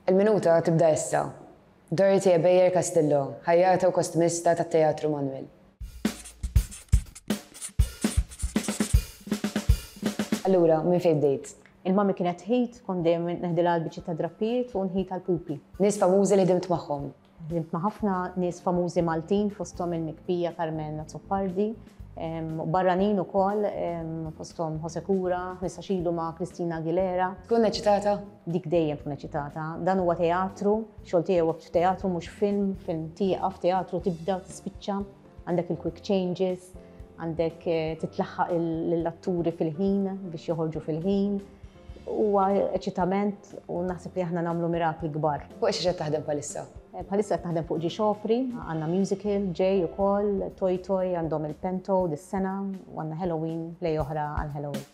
Il-minuta tibda issa. Dorothy Ebejer Castillo, ħajjata u kostumista tat-Teatru Manoel. Allura, minn fejn bdejt? Il-mami kienet tħit, kont dejjem neħdilha l-biċċiet ta' drappijiet u nħit għall-pupi. Nies famużi li ħdimt magħhom. Ħdimt ma' ħafna nies famużi Maltin fosthom il-mikbija Carmen Azzopardi, u barranin ukoll fosthom Jose Cura, 15 ilu ma' Christina Aguilera. Tkun eċitata? Dik dejjem tkun eċitata. Dan huwa teatru, xogħol tiegħi huwa f'teatru mhux film, film tieqaf, teatru tibda u tispiċċa, għandek il-quick changes, għandek titlaħħaq lill-atturi fil-ħin biex joħorġu fil-ħin. Huwa eċitament u naħseb li aħna nagħmlu mirakli kbar. Fuq xiex qed taħdem bħalissa? Bħalissa qed naħdem fuq Ġie Xopri, għandna musical ġej ukoll, Toy Toy għandhom il-Pento dis-sena u għandna Halloween, play oħra għal Halloween.